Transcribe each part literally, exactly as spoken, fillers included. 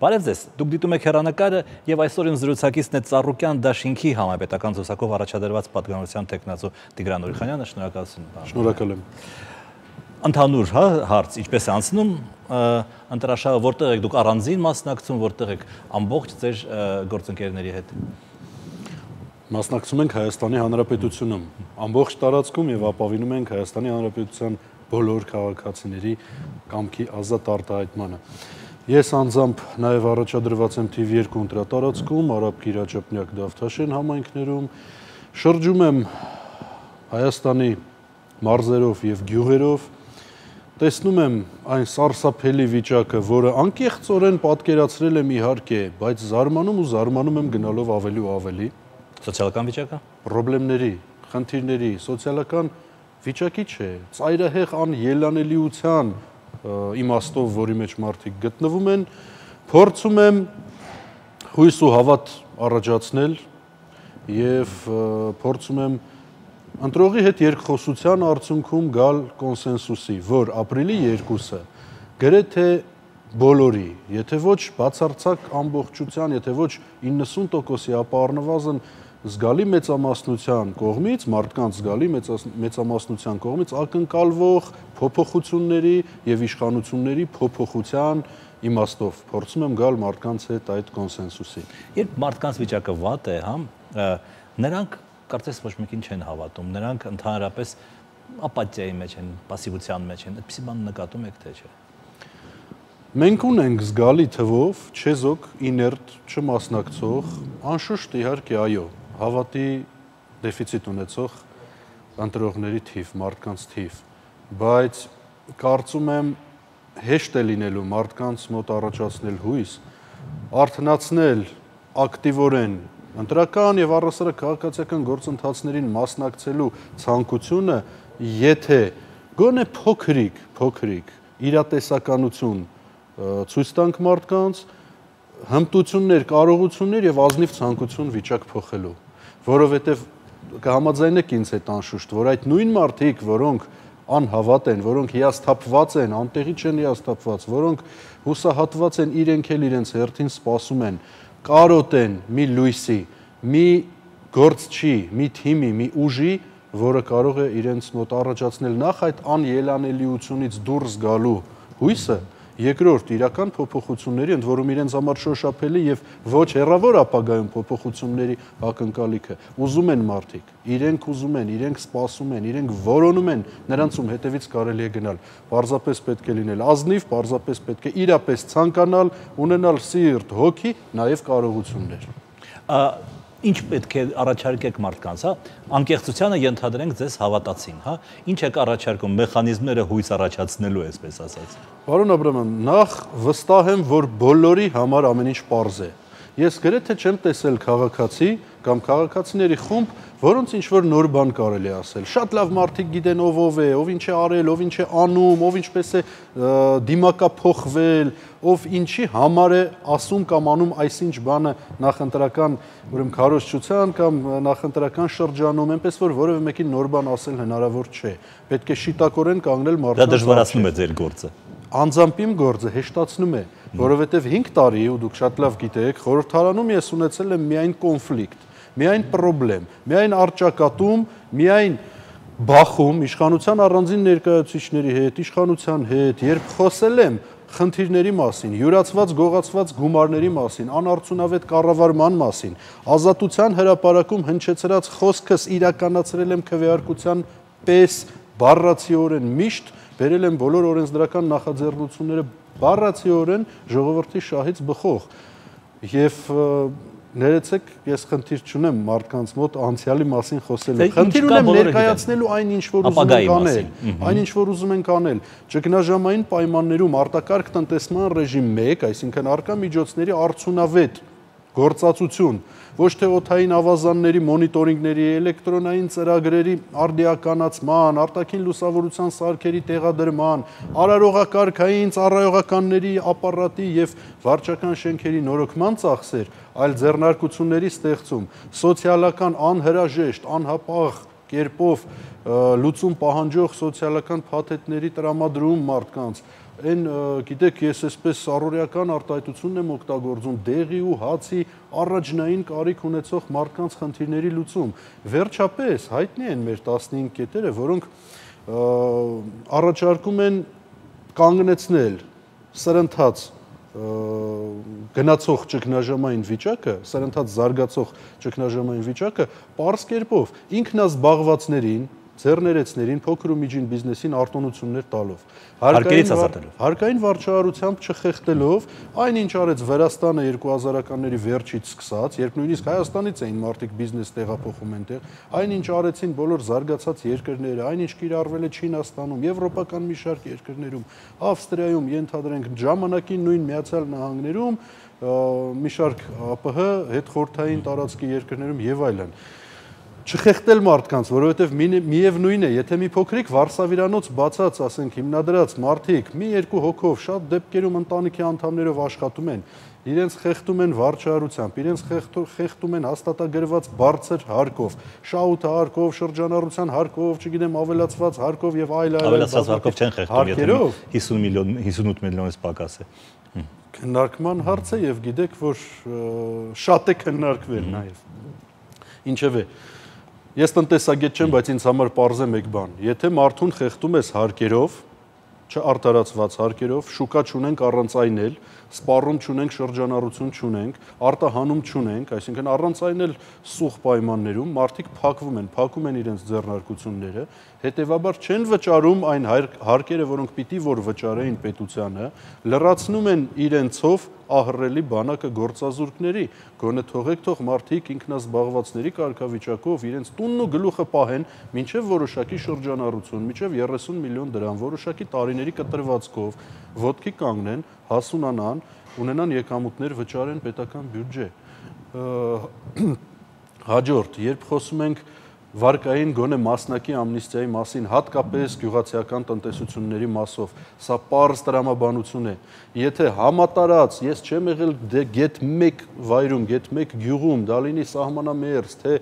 Բարև ձեզ, դուք դիտում եք հեռանկարը եւ այսօր իմ զրուցակիցն է Ծառուկյան դաշինքի համապետական զբոսակով առաջադրված պատգամավորության տեխնացու Տիգրան Ուրիխանյանը, շնորհակալություն։ Շնորհակալ եմ։ Ընդհանուր հա հարց, ինչպես է անցնում, ընտրաշահը որտեղ եք դուք առանձին մասնակցում, որտեղ եք ամբողջ ձեր գործընկերների հետ։ Մասնակցում ենք Հայաստանի Հանրապետությունում, ամբողջ տարածքում եւ ապավինում ենք Հայաստանի Հանրապետության բոլոր քաղաքացիների կամքի ազատ արտահայտմանը։ Ես անձամբ նաև առաջադրված եմ թիվ երկու ընտրատարածքում, Արաբ Կիրաճապնյակ Դավթաշեն համայնքներում, շրջում եմ Հայաստանի մարզերով եւ գյուղերով, տեսնում եմ այն սարսափելի վիճակը, որը անկեղծորեն պատկերացրել եմ իհարկե, բայց զարմանում ու զարմանում եմ գնալով ավելի ու ավելի։ Սոցիալական վիճակը, խնդիրների, խնդիրների, սոցիալական վիճակի չէ, ծայրահեղ անելանելիության իմաստով, որի մեջ մարդիկ գտնվում են, փորձում եմ հույս ու հավատ առաջացնել եւ փորձում եմ ընտրողի հետ երկխոսության արդյունքում գալ կոնսենսուսի, որ ապրիլի երկուսը գրեթե բոլորի, եթե ոչ բացարձակ ամբողջության, եթե ոչ իննսուն տոկոսի, ապա առնվազն զգալի մեծամասնության կողմից, մարդկանց զգալի մեծամասնության կողմից ակնկալվող փոփոխությունների եւ իշխանությունների փոփոխության իմաստով փորձում եմ գալ մարդկանց հետ այդ կոնսենսուսի։ Երբ մարդկանց վիճակը վատ է, հա, նրանք կարծես ոչ մեկին չեն հավատում, նրանք ընդհանրապես ապաթիայի մեջ են, пассивության մեջ են, այդպիսի բան նկատում եք թե չէ։ Մենք ունենք զգալի թվով չեզոք, իներտ, չմասնակցող, անշուշտ իհարկե այո, հավատի դեֆիցիտ ունեցող ընտրողների թիվ, մարդկանց թիվ, բայց կարծում եմ հեշտ է լինելու մարդկանց մոտ առաջացնել հույս, արթնացնել ակտիվորեն ընտրական եւ առհասարակ քաղաքացիական գործընթացներին մասնակցելու ցանկությունը, եթե գոնե փոքրիկ, փոքրիկ իրատեսականություն ցույց տանք մարդկանց, հմտություններ, կարողություններ եւ ազնիվ ցանկություն վիճակ փոխելու, որովհետեւ կհամաձայնեք ինձ հետ անշուշտ, որ այդ նույն մարդիկ, որոնք անհավատ են, որոնք հիասթափված են, անտեղի չեն հիասթափված, որոնք հուսահատված են, իրենք էլ իրենց հերթին սպասում են, կարոտ են մի լույսի, մի գործչի, մի թիմի, մի ուժի, որը կարող է իրենց մոտ առաջացնել նախ այդ անելանելիությունից դուրս գալու հույսը, երկրորդ իրական փոփոխությունների, ընդ որում իրենց համար շոշափելի եւ ոչ հեռավոր ապագայում փոփոխությունների ակնկալիքը ուզում են մարդիկ, իրենք ուզում են, իրենք սպասում են, իրենք որոնում են, նրանցում հետևից կարելի է գնալ, պարզապես պետք է լինել ազնիվ, պարզապես պետք է իրապես ցանկանալ, ունենալ սիրտ, հոգի, նաեւ կարողություններ։ Ինչ պետք է առաջարկեք մարդկանց, հա, անկեղծությանը ենթադրենք ձեզ հավատացին, հա, ինչ եք առաջարկում, մեխանիզմները հույս առաջացնելու, այսպես ասած։ Պարոն Աբրաման, նախ վստահ եմ, որ բոլորի համար ամեն ինչ պարզ է։ Ես գրեթե չեմ տեսել քաղաքացի կամ քաղաքացիների խումբ, որոնց ինչ որ նոր բան կարելի է ասել։ Շատ լավ մարդիկ գիտեն ով ով է, ով ինչ է արել, ով ինչ է անում, ով ինչպես է դիմակափոխվել, ով ինչի համար է ասում կամ անում այսինչ բանը նախընտրական, ուրեմն քարոզչության կամ նախընտրական շրջանում, այնպես որ որևէ մեկին նոր բան ասել հնարավոր չէ։ Պետք է շիտակորեն կանգնել մարդկանց։ Դա դժվարացնում է ձեր գործը։ Անձամբ իմ գործը հեշտացնում է, որովհետև հինգ տարի, ու դուք շատ լավ գիտեք, խորհրդարանում ես ունեցել եմ միայն կոնֆլիկտ, միայն պրոբլեմ, միայն առճակատում, միայն բախում իշխանության առանձին ներկայացուցիչների հետ, իշխանության հետ, երբ խոսել եմ խնդիրների մասին, յուրացված գողացված գումարների մասին, անարդյունավետ կառավարման մասին, ազատության հրապարակում հնչեցրած խոսքս իրականացրել եմ քվեարկության պես բառացիորեն միշտ բերել եմ բոլոր օրենսդրական նախաձեռնությունները բառացիորեն ժողովրդի շահից բխող եւ ներեցեք, ես խնդիր չունեմ մարդկանց մոտ անցյալի մասին խոսելու։ Խնդիր ունեմ ներկայացնելու այն ինչ որ ուզում ենք անել, այն ինչ որ ուզում ենք անել։ Ճգնաժամային պայմաններում արտակարգ տնտեսման ռեժիմ մեկ, այսինքն արկա միջոցների արդյունավետ գործածություն, ոչ թե օդային ավազանների մոնիտորինգների, էլեկտրոնային ծրագրերի արդիականացման, արտաքին լուսավորության սարքերի տեղադրման, արարողակարգային ծառայողականների ապարատի եւ վարչական շենքերի նորոգման ծախսեր, այլ ձեռնարկությունների ստեղծում, սոցիալական անհրաժեշտ, անհապաղ կերպով լուծում պահանջող սոցիալական փաթեթների տրամադրում մարդկանց, այն գիտեք, ես այսպես առօրեական արտահայտությունն եմ օգտագործում դեղի ու հացի առաջնային կարիք ունեցող մարդկանց խնդիրների լուծում։ Վերջապես հայտնի են մեր տասնհինգ կետերը, որոնք առաջարկում են կանգնեցնել սրընթաց գնացող ճգնաժամային վիճակը, սրընթաց զարգացող ճգնաժամային վիճակը պարզ կերպով ինքնազբաղվածներին, ձեռներեցներին, փոքր ու միջին բիզնեսին արտոնություններ տալով, հարկերից ազատելով, հարկային վարչարությամբ չխեղդելով, այնինչ արեց Վրաստանը երկու հազարականների վերջից սկսած, երբ նույնիսկ Հայաստանից էին մարդիկ բիզնես տեղափոխում այնտեղ, այնինչ արեցին բոլոր զարգացած երկրները, այնինչ կիրառվել է Չինաստանում, եվրոպական մի շարք երկրներում, Ավստրիայում, ենթադրենք ժամանակին նույն Միացյալ Նահանգներում, մի շարք ԱՊՀ հետխորհրդային տարածքի երկրներում եւ այլն։ Չխեղդել մարդկանց, որովհետև միևնույն է, եթե մի փոքրիկ վարսավիրանոց բացած, ասենք, հիմնադրած մարդիկ մի երկու հոգով շատ դեպքերում ընտանիքի անդամներով աշխատում են, իրենց խեղդում են վարչարությամբ, իրենց խեղդում են հաստատագրված բարձր հարկով, շահութ հարկով, շրջանառության հարկով, չգիտեմ, ավելացված հարկով եւ այլ այլ ավելացված հարկով չեն խեղդում, եթե հիսուն միլիոն, հիսունութ միլիոնից պակաս է։ Քննարկման հարց է եւ գիտեք, որ շատ է քննարկվել նաեւ։ Ինչևէ, ես տնտեսագետ չեմ, բայց ինձ համար պարզ է մեկ բան. եթե մարդուն խեղդում ես հարկերով, չարտարացված հարկերով, շուկա չունենք առանց այն էլ, սպառում չունենք, շրջանառություն չունենք, արտահանում չունենք, այսինքն առանց այն էլ սուղ պայմաններում մարդիկ փակվում են, փակում են իրենց ձեռնարկությունները, հետևաբար չեն վճարում այն հարկերը, որոնք պիտի որ վճարեին պետությանը, լրացնում են իրենցով ահռելի բանակը գործազուրկների, գոնե թողեք թող մարդիկ ինքնազբաղվածների կարգավիճակով իրենց տունն ու գլուխը պահեն մինչև որոշակի շրջանառություն, մինչև երեսուն միլիոն դրամ, որոշակի տարիների կտրվածքով, ոտքի կանգնեն, հասունանան, ունենան եկամուտներ, վճարեն պետական բյուջե։ Հաջորդ, երբ խոսում ենք վարկային գոնե մասնակի ամնիստիայի մասին, հատկապես գյուղացիական տնտեսությունների մասով, սա պարզ տրամաբանություն է։ Եթե համատարած, ես չեմ եղել գեթ մեկ վայրում, գեթ մեկ գյուղում, դա լինի սահմանամերձ, թե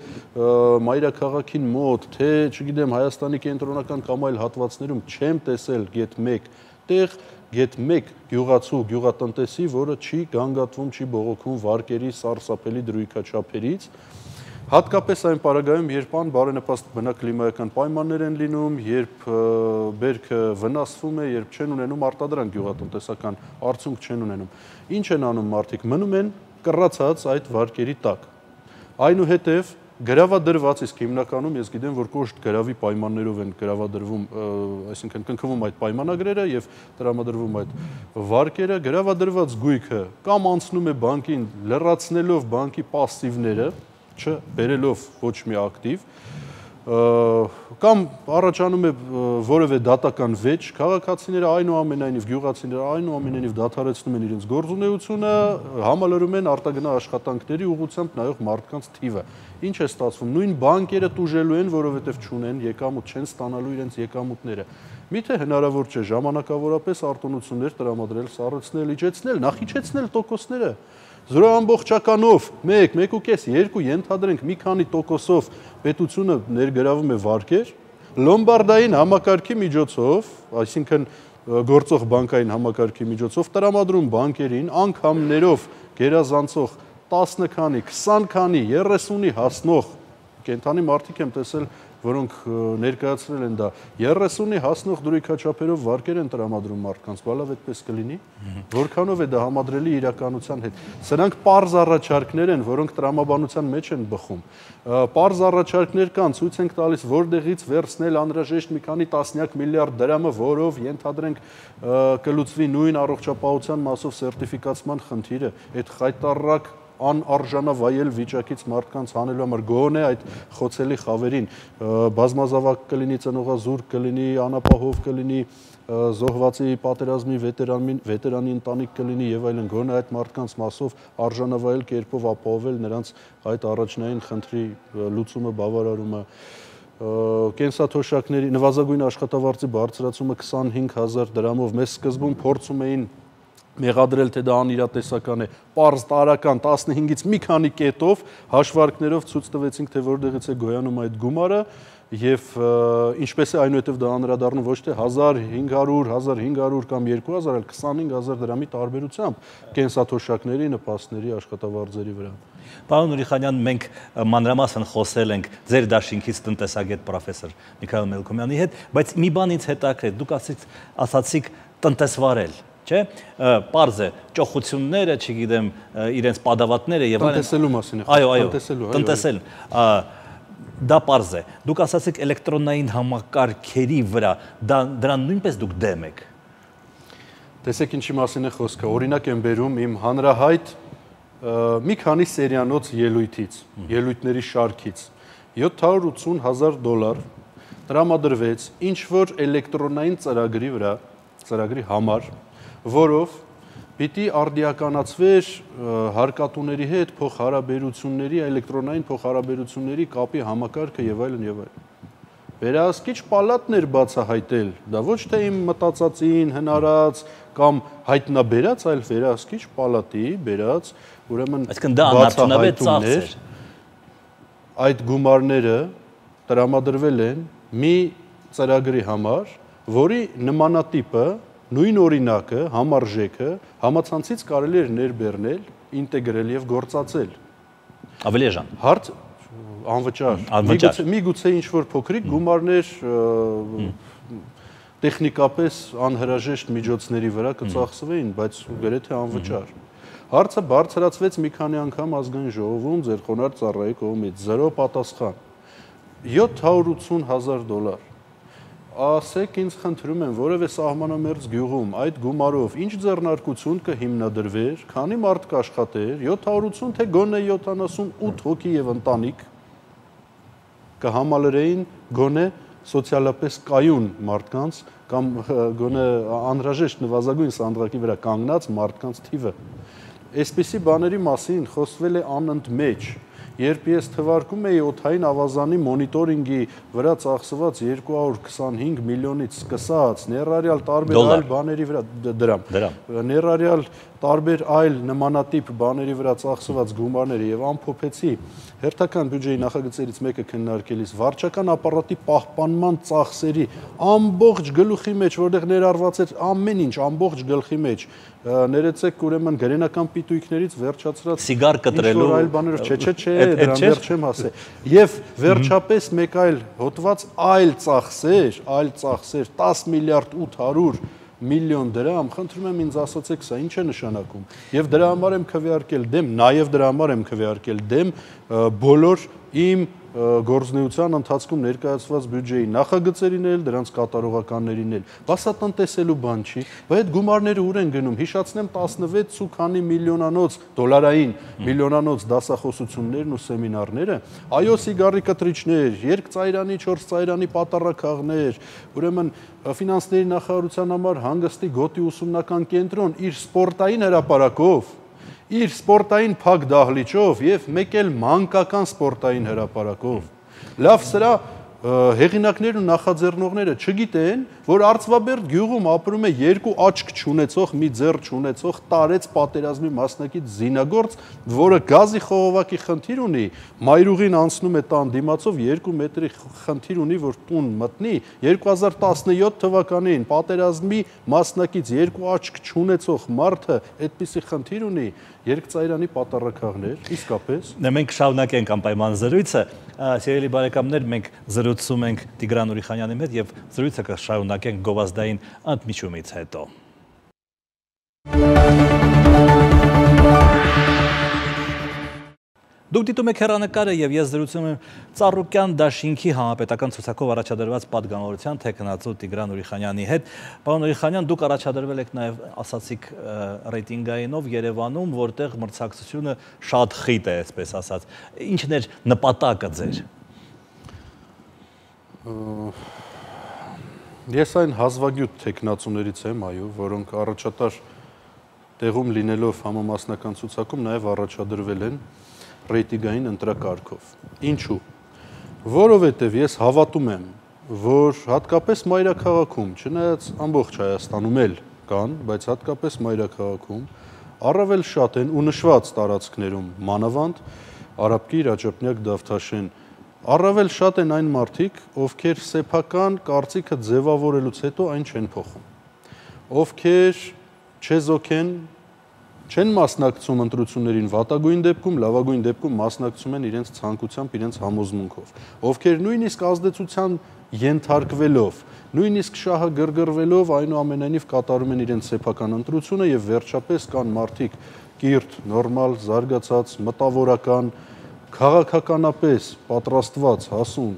մայրաքաղաքին մոտ, թե, չգիտեմ, Հայաստանի կենտրոնական կամ այլ հատվածներում չեմ տեսել գեթ մեկ տեղ, գեթ մեկ գյուղացու, գյուղատնտեսի, որը չի գանգատվում, չի բողոքում վարկերի սարսափելի դրույքաչափերից, հատկապես այն պարագայում, երբ անբարենպաստ բնակլիմայական պայմաններ են լինում, երբ բերքը վնասվում է, երբ չեն ունենում արտադրանք գյուղատնտեսական արդյունք չեն ունենում։ Ինչ են անում մարդիկ, մնում են կռացած այդ վարկերի տակ։ Այնուհետև գրավադրված, իսկ հիմնականում ես գիտեմ, որ կոշտ գրավի պայմաններով են գրավադրվում, այսինքն կնքվում այդ պայմանագրերը եւ տրամադրվում այդ վարկերը, գրավադրված գույքը կամ անցնում է բանկին, լրացնելով բանկի պասիվները, չբերելով ոչ մի ակտիվ, կամ առաջանում է որևէ դատական վեճ, քաղաքացիները այնուամենայնիվ, գյուղացիները այնուամենայնիվ դադարեցնում են իրենց գործունեությունը, համալրում են արտագնա աշխատանքների ուղղությամբ նայող մարդկանց թիվը։ Ինչ է ստացվում, նույն բանկերը տուժելու են, որովհետև չունեն եկամուտ, չեն ստանալու իրենց եկամուտները։ Միթե հնարավոր չէ ժամանակավորապես արտոնություններ տրամադրել, սառեցնել, իջեցնել, նախիջեցնել տոկոսները։ Զրո ամբողջականով, մեկ, մեկ ու կես, երկու ենթադրենք մի քանի տոկոսով պետությունը ներգրավում է վարկեր, լոմբարդային համակարգի միջոցով, այսինքն գործող բանկային համակարգի միջոցով տրամադրում բանկերին անգամներով գերազանցող տասը քանի, քսան քանի, երեսունի հասնող կենթանի մարդիկ եմ տեսել, որոնք ներկայացրել են դա, երեսունի հասնող դրույքաչափերով վարկեր են տրամադրում մարդկանց, բալավ այդպես կլինի, որքանով է դա համադրելի իրականության հետ։ Սրանք պարզ առաջարկներ են, որոնք տրամաբանության մեջ են բխում։ Պարզ առաջարկներ կան, ցույց ենք տալիս, որտեղից վերցնել անհրաժեշտ մի քանի տասնյակ միլիարդ դրամը, որով ենթադրենք կլուծվի նույն առողջապահության մասով սերտիֆիկացման խնդիրը, այդ խայտառակ անարժանավայել վիճակից մարդկանց հանելու համար գոնե այդ խոցելի խավերին բազմազավակ կլինի, ծնողազուրկ կլինի, անապահով կլինի, զոհվածի պատերազմի վետերանի, վետերանի ընտանիք կլինի եւ այլն, գոնե այդ մարդկանց մասով արժանավայել կերպով ապահովել նրանց այդ առաջնային խնդրի լուծումը, բավարարումը, կենսաթոշակների նվազագույն աշխատավարձի բարձրացումը քսանհինգ հազար դրամով, մեզ սկզբում փորձում էին մեղադրել, թե դա անիրատեսական է, պարզ տարական տասնհինգից մի քանի կետով հաշվարկներով ցույց տվեցինք, թե որտեղից է գոյանում այդ գումարը եւ ինչպես է այնուհետեւ դա անդրադառնում ոչ թե հազար հինգ հարյուր, հազար հինգ հարյուր կամ երկու հազար, այլ քսանհինգ հազար դրամի տարբերությամբ կենսաթոշակների, նպաստների, աշխատավարձերի վրա։ Պարոն Ուրիխանյան, մենք մանրամասն խոսել ենք ձեր դաշինքից տնտեսագետ պրոֆեսոր Միքայել Մելքոմյանի հետ, բայց մի բան ինձ հետաքրքրեց, դուք ասացիք տնտեսվարել, չէ՞։ Պարզ է, ճոխությունները, չգիտեմ, իրենց падավատները եւ այլն։ Տնտեսելու մասին է։ Այո, այո, տնտեսել։ Դա պարզ է։ Դուք ասացիք էլեկտրոնային համակարգերի վրա, դրան նույնպես դուք դեմ եք։ Տեսեք ինչի մասին է խոսքը։ Օրինակ եմ բերում իմ հանրահայտ մի քանի սերիանոց ելույթից, ելույթների շարքից յոթ հարյուր ութսուն հազար դոլար տրամադրվեց ինչ որ էլեկտրոնային ծրագրի վրա, ծրագրի համար, որով պիտի արդիականացվեր հարկատուների հետ փոխհարաբերությունների, էլեկտրոնային փոխհարաբերությունների կապի համակարգը եւ այլն եւ այլն։ Վերահսկիչ պալատն էր բացահայտել, դա ոչ թե իմ մտածածին հնարած կամ հայտնաբերած, այլ վերահսկիչ պալատի բերած, ուրեմն այսինքն դա անարդյունավետ ծախս էր։ Այդ գումարները տրամադրվել են մի ծրագրի համար, որի նմանատիպը, նույն օրինակը, համարժեքը համացանցից կարելի էր ներբեռնել, ինտեգրել եւ գործածել։ Ավելի էժան։ Հարց անվճար։ Միգուցե ինչ-որ փոքրիկ գումարներ տեխնիկապես անհրաժեշտ միջոցների վրա կծախսվեին, բայց գրեթե անվճար։ Հարցը բարձրացվեց մի քանի անգամ ազգային ժողովում ձեր խոնարհ ծառայի կողմից, զրո պատասխան։ յոթ հարյուր ութսուն հազար դոլար։ Ասեք ինձ խնդրում եմ, որևէ սահմանամերձ գյուղում այդ գումարով ինչ ձեռնարկություն կհիմնադրվեր, քանի մարդ կաշխատեր, յոթ հարյուր ութսուն թե գոնե յոթանասունութ հոգի եւ ընտանիք կհամալրեին գոնե սոցիալապես կայուն մարդկանց կամ գոնե անհրաժեշտ նվազագույն սանդղակի վրա կանգնած մարդկանց թիվը։ Այսպիսի բաների մասին խոսվել է անընդմեջ։ Երբ ես թվարկում էի օդային ավազանի մոնիտորինգի վրա ծախսված երկու հարյուր քսանհինգ միլիոնից սկսած, ներառյալ տարբեր այլ բաների վրա դրամ, ներառյալ տարբեր այլ նմանատիպ բաների վրա ծախսված գումարները եւ ամփոփեցի հերթական բյուջեի նախագծերից մեկը քննարկելիս վարչական ապարատի պահպանման ծախսերի ամբողջ գլուխի մեջ, որտեղ ներառված էր ամեն ինչ, ամբողջ գլխի մեջ, ներեցեք ուրեմն գրենական պիտույքներից վերջացրած սիգար կտրելու այլ բաներով, չէ, չէ, չէ, դրան դեռ չեմ հասել։ Եվ վերջապես մեկ այլ հոդված այլ ծախսեր, այլ ծախսեր տասը միլիարդ ութ հարյուր միլիոն դրամ, խնդրում եմ ինձ ասացեք սա ինչ է նշանակում։ Եվ դրա համար եմ քվեարկել դեմ, նաև դրա համար եմ քվեարկել դեմ բոլոր իմ գործունեության ընթացքում ներկայացված բյուջեի նախագծերին էլ, դրանց կատարողականներին էլ։ Բաս սա տնտեսելու բան չի, բայց այդ գումարները ուր են գնում։ Հիշացնեմ տասնվեց ու քանի միլիոնանոց դոլարային միլիոնանոց դասախոսություններն ու սեմինարները, այո, սիգարի կտրիչներ, երկծայրանի, չորսծայրանի պատառաքաղներ, ուրեմն ֆինանսների նախարարության համար հանգստի գոտի ուսումնական կենտրոն իր սպորտային հրապարակով, իր սպորտային փակ դահլիճով եւ մեկ էլ մանկական սպորտային հրապարակով։ Լավ, սրա հեղինակներն ու նախաձեռնողները չգիտեն, որ Արծվաբերդ գյուղում ապրում է երկու աչք չունեցող, մի ձեռ չունեցող տարեց պատերազմի մասնակից զինագործ, որը գազի խողովակի խնդիր ունի, մայրուղին անցնում է տան դիմացով երկու մետրի խնդիր ունի, որ տուն մտնի, երկու հազար տասնյոթ թվականին պատերազմի մասնակից երկու աչք չունեցող մարդը այդպիսի խնդիր ունի, երկծայրանի պատառաքաղներ, իսկապես։ Մենք շարունակենք անպայման զրույցը, սիրելի բարեկամներ, մենք զրուցում ենք Տիգրան Ուրիխանյանի հետ եւ զրույցը կշարունակենք գովազդային ընդմիջումից հետո։ Դուք դիտում եք հեռանկարը եւ ես զրուցում եմ Ծառուկյան դաշինքի համապետական ցուցակով առաջադրված պատգամավորության թեկնածու Տիգրան Ուրիխանյանի հետ։ Պարոն Ուրիխանյան, դուք առաջադրվել եք նաեւ ասացիք ռեյտինգայինով Երևանում, որտեղ մրցակցությունը շատ խիտ է, այսպես ասած։ Ինչն էր նպատակը ձեր։ Ես այն հազվագյուտ թեկնածուներից եմ, այո, որոնք առաջատար տեղում լինելով համամասնական ցուցակում նաեւ առաջադրվել են ռեյտինգային ընտրակարգով։ Ինչու՞։ Որովհետև ես հավատում եմ, որ հատկապես մայրաքաղաքում, չնայած ամբողջ Հայաստանում էլ կան, բայց հատկապես մայրաքաղաքում առավել շատ են ու նշված տարածքներում մանավանդ արաբկի իրաճապնյակ Դավթաշեն առավել շատ են այն մարդիկ, ովքեր սեփական կարծիքը ձևավորելուց հետո այն չեն փոխում, ովքեր չեզոք են, չեն մասնակցում ընտրություններին վատագույն դեպքում, լավագույն դեպքում մասնակցում են իրենց ցանկությամբ, իրենց համոզմունքով, ովքեր նույնիսկ ազդեցության ենթարկվելով, նույնիսկ շահը գրգռվելով այնուամենայնիվ կատարում են իրենց սեփական ընտրությունը եւ վերջապես կան մարդիկ կիրթ, նորմալ, զարգացած, մտավորական, քաղաքականապես պատրաստված, հասուն,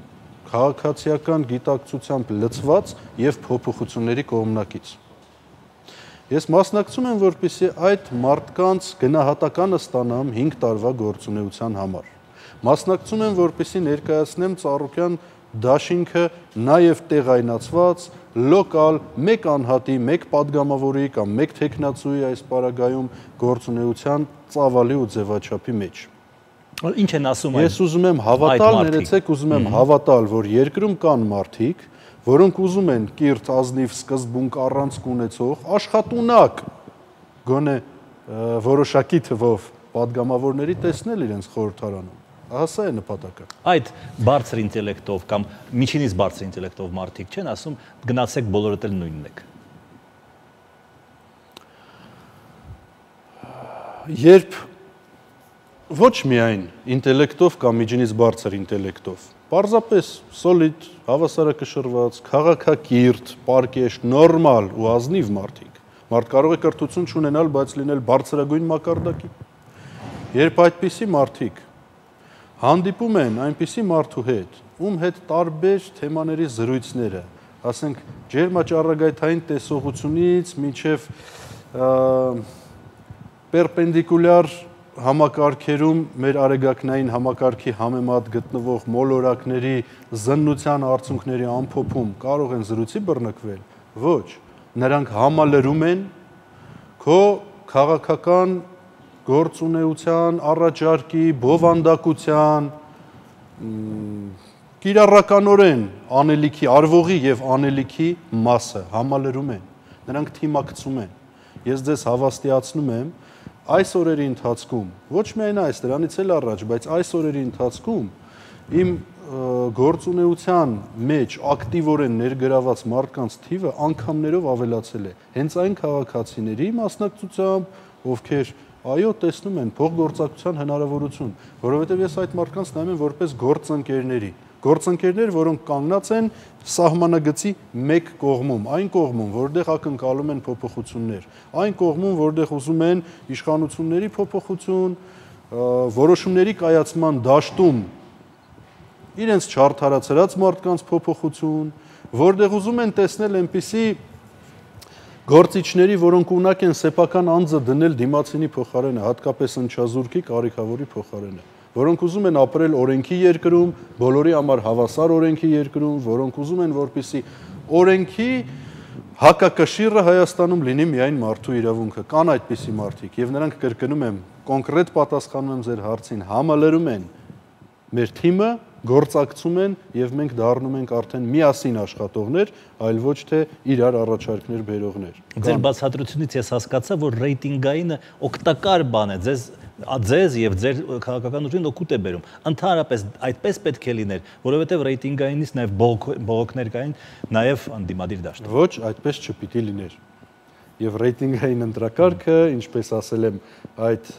քաղաքացիական գիտակցությամբ լցված եւ փոփոխությունների կողմնակից։ Ես մասնակցում եմ, որպեսզի այդ մարդկանց գնահատականը ստանամ հինգ տարվա գործունեության համար։ Մասնակցում եմ, որպեսզի ներկայացնեմ Ծառուկյան դաշինքը նաև տեղայնացված, լոկալ, մեկ անհատի, մեկ падգամավորի կամ մեկ թեկնածուի այս պարագայում գործունեության ծավալի ու ձևաչափի մեջ։ Ինչ են ասում այդ Ես ուզում եմ հավատալ, ներեցեք, ուզում եմ հավատալ, որ երկրում կան մարդիկ, որոնք ուզում են կիրթ, ազնիվ, սկզբունք առանցք ունեցող, աշխատունակ, գոնե որոշակի թվով падգամավորների տեսնել իրենց խորհրդարանում։ Ահա սա է նպատակը։ Այդ բարձր ինտելեկտով կամ միջինից բարձր ինտելեկտով մարդիկ չեն ասում, գնացեք բոլորդ էլ նույնն եք։ Երբ ոչ միայն ինտելեկտով կամ միջինից բարձր ինտելեկտով, պարզապես սոլիդ, հավասարակշռված, քաղաքակիրթ, պարկեշտ, նորմալ ու ազնիվ մարդիկ, մարդ կարող է կրթություն չունենալ, բայց լինել բարձրագույն մակարդակի։ Երբ այդպիսի մարդիկ հանդիպում են այնպիսի մարդու հետ, ում հետ տարբեր թեմաների զրույցները, ասենք ջերմաճառագայթային տեսողությունից մինչև պերպենդիկուլյար համակարգերում մեր արեգակնային համակարգի համեմատ գտնվող մոլորակների զննության արդյունքների ամփոփում կարող են զրույցի բռնկվել, ոչ, նրանք համալրում են քո քաղաքական գործունեության, առաջարկի, բովանդակության, կիրառականորեն անելիքի, արվողի եւ անելիքի մասը համալրում են, նրանք թիմակցում են։ Ես ձեզ հավաստիացնում եմ, այս օրերի ընթացքում, ոչ միայն այս, դրանից էլ առաջ, բայց այս օրերի ընթացքում իմ գործունեության մեջ ակտիվորեն ներգրաված մարդկանց թիվը անգամներով ավելացել է։ Հենց այն քաղաքացիների մասնակցությամբ, ովքեր այո, տեսնում են փոխգործակցության հնարավորություն, որովհետև ես այդ մարդկանց նայում եմ որպես գործընկերների, գործընկերներ, որոնք կանգնած են սահմանագծի մեկ կողմում, այն կողմում, որտեղ ակնկալում են փոփոխություններ, այն կողմում, որտեղ ուզում են իշխանությունների փոփոխություն, որոշումների կայացման դաշտում իրենց չարդարացրած մարդկանց փոփոխություն, որտեղ ուզում են տեսնել այնպիսի գործիչների, որոնք ունակ են սեփական անձը դնել դիմացինի փոխարենը, հատկապես ընչազուրկի կարիքավորի փոխարենը, որոնք ուզում են ապրել օրենքի երկրում, բոլորի համար հավասար օրենքի երկրում, որոնք ուզում են, որպեսզի օրենքի հակակշիռը Հայաստանում լինի միայն մարդու իրավունքը։ Կան այդպիսի մարդիկ, եւ նրանք, կրկնում եմ, կոնկրետ պատասխանում եմ ձեր հարցին, համալրում են մեր թիմը, գործակցում են եւ մենք դառնում ենք արդեն միասին աշխատողներ, այլ ոչ թե իրար առաջարկներ բերողներ։ Ձեր բացատրությունից ես հասկացա, որ ռեյտինգայինը օգտակար բան է, ձեզ ձեզ եւ ձեր քաղաքական ուժին օգուտ է բերում։ Ընդհանրապես այդպես պետք է լիներ, որովհետեւ ռեյտինգայինից նաեւ բողոքներ կային նաեւ անդիմադիր դաշտում։ Ոչ, այդպես չպիտի լիներ։ Եվ ռեյտինգային ընտրակարգը, ինչպես ասել եմ, այդ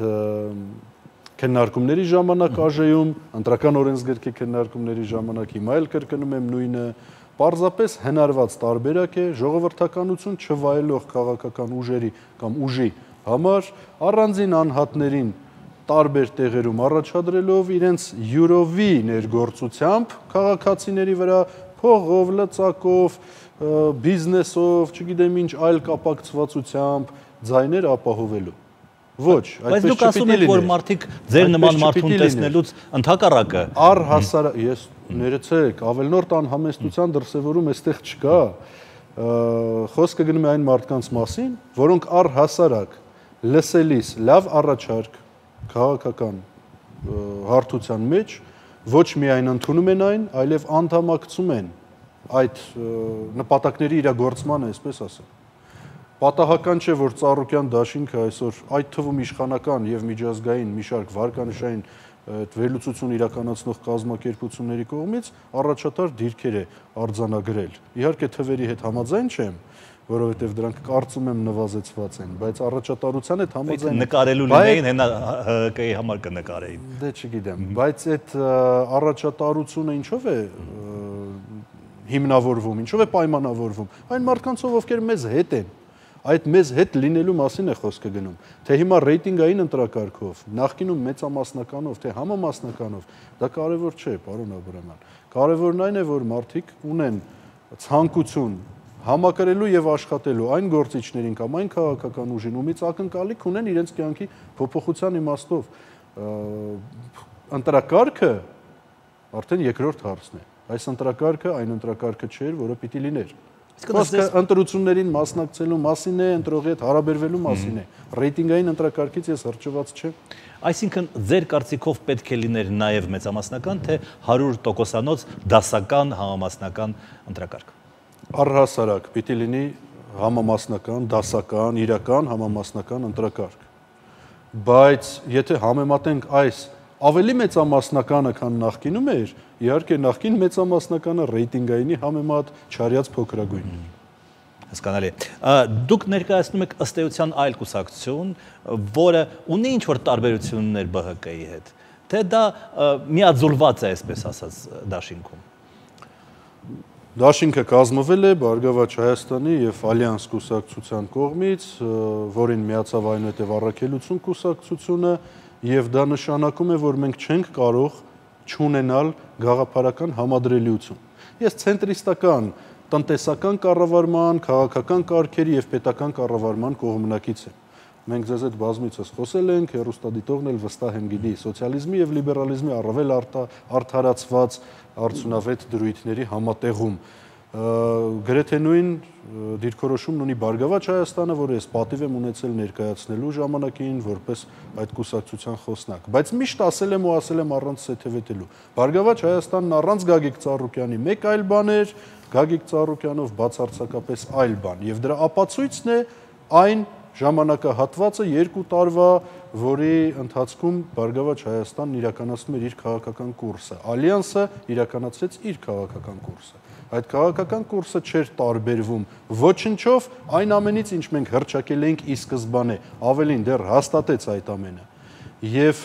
քննարկումների ժամանակ ԱԺ-ում, ընտրական օրենսգրքի քննարկումների ժամանակ, հիմա էլ կրկնում եմ նույնը, պարզապես հնարված տարբերակ է ժողովրդականություն չվայելող քաղաքական ուժերի կամ ուժի համար առանձին անհատներին տարբեր տեղերում առաջադրելով իրենց յուրովի ներգործությամբ քաղաքացիների վրա փողով, լծակով, բիզնեսով, չգիտեմ ինչ այլ կապակցվածությամբ ձայներ ապահովելու։ Ոչ, այդպես չպիտի լինի։ Բայց դուք ասում եք, որ մարդիկ ձեր նման մարդուն տեսնելուց ընդհակառակը։ Առհասարակ, ես ներեցեք, ավելնորդ անհամեստության դրսևորում այստեղ չկա։ Խոսքը գնում է այն մարդկանց մասին, որոնք առհասարակ լսելիս լավ առաջարկ քաղաքական հարթության մեջ ոչ միայն ընդունում են այն, այլև անդամակցում են այդ նպատակների իրագործմանը, այսպես ասեմ։ Պատահական չէ, որ Ծառուկյան դաշինքը այսօր այդ թվում իշխանական եւ միջազգային մի շարք վարկանշային այդ վերլուծություն իրականացնող կազմակերպությունների կողմից առաջատար դիրքեր է արձանագրել։ Իհարկե թվերի հետ համաձայն չեմ, որովհետև դրանք կարծում եմ նվազեցված են, բայց առաջատարության հետ համաձայն նկարելու լինեին, հենա ՀԿ-ի համար կնկարեին։ Դե չգիտեմ, բայց այդ առաջատարությունը ինչով է հիմնավորվում, ինչով է պայմանավորվում։ Այն մարդկանցով, ովքեր մեզ հետ են, այդ մեզ հետ լինելու մասին է խոսքը գնում։ Թե հիմա ռեյտինգային ընտրակարգով, նախկինում մեծամասնականով, թե համամասնականով, դա կարևոր չէ, պարոն Աբրահամյան։ Կարևորն այն է, որ մարդիկ ունեն ցանկություն համակրելու եւ աշխատելու այն գործիչներին կամ այն քաղաքական ուժին, ումից ակնկալիք ունեն իրենց կյանքի փոփոխության իմաստով։ Ընտրակարգը արդեն երկրորդ հարցն է։ Այս ընտրակարգը այն ընտրակարգը չէր, որը պիտի լիներ։ Խոսքը ընտրություններին մասնակցելու մասին է, ընտրողի հետ հարաբերվելու մասին է։ Ռեյտինգային ընտրակարգից ես հրճված չեմ։ Այսինքն ձեր կարծիքով պետք է լիներ նաեւ մեծամասնական, թե հարյուր տոկոսանոց դասական համամասնական ընտրակարգ։ Առհասարակ պիտի լինի համամասնական, դասական, իրական համամասնական ընտրակարգ։ Բայց եթե համեմատենք այս ավելի մեծամասնականը, քան նախկինում էր, իհարկե նախկին մեծամասնականը ռեյտինգայինի համեմատ չարյաց փոքրագույն է։ Հասկանալի։ Դուք ներկայացնում եք ըստ էության այլ կուսակցություն, որը ունի ինչ-որ տարբերություններ ԲՀԿ-ի հետ, թե դա միաձուլված է, այսպես ասած, դաշինքում։ Դաշինքը կազմվել է Բարգավաճ Հայաստանի եւ Ալյանս կուսակցության կողմից, որին միացավ այնուհետեւ Առաքելություն կուսակցությունը, եւ դա նշանակում է, որ մենք չենք կարող չունենալ գաղափարական համադրելիություն։ Ես ցենտրիստական տնտեսական կառավարման, քաղաքական կարգերի եւ պետական կառավարման կողմնակից եմ։ Մենք ձեզ հետ բազմիցս խոսել ենք, հեռուստադիտողն էլ վստահ եմ գիտի, սոցիալիզմի եւ լիբերալիզմի առավել արդարացված արդյունավետ դրույթների համատեղում։ Գրեթե նույն դիրքորոշումն ունի Բարգավաճ Հայաստանը, որը ես պատիվ եմ ունեցել ներկայացնելու ժամանակին որպես այդ կուսակցության խոսնակ։ Բայց միշտ ասել եմ ու ասել եմ առանց սեթևետելու։ Բարգավաճ Հայաստանն առանց Գագիկ Ծառուկյանի մեկ այլ բան էր, Գագիկ Ծառուկյանով բացարձակապես այլ բան։ Եվ դրա ապացույցն է այն ժամանակահատվածը երկու տարվա, որի ընթացքում Բարգավաճ Հայաստանն իրականացնում էր իր քաղաքական կուրսը։ Ալյանսը իրականացրեց իր քաղաքական կուրսը։ Այդ քաղաքական կուրսը չէր տարբերվում ոչնչով այն ամենից, ինչ մենք հռչակել էինք ի սկզբանե, ավելին դեռ հաստատեց այդ ամենը։ Եվ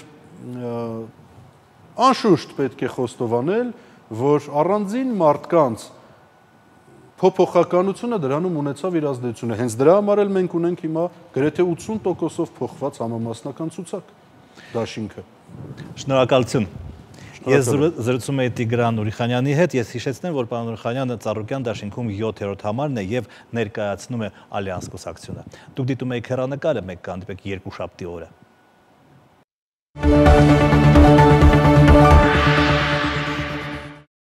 անշուշտ պետք է խոստովանել, որ առանձին մարդկանց փոփոխականությունը դրանում ունեցավ իր ազդեցությունը։ Հենց դրա համար էլ մենք ունենք հիմա գրեթե ութսուն տոկոսով փոխված համամասնական ցուցակ դաշինքը։ Շնորհակալություն։ Ես զրուցում եի Տիգրան Ուրիխանյանի հետ, ես հիշեցնեմ, որ պարոն Ուրիխանյանը Ծառուկյան դաշինքում յոթերորդ համարն է եւ ներկայացնում է Ալյանս կուսակցությունը։ Դուք դիտում եք հեռանկարը, մեկ կհանդիպեք երկուշաբթի օրը։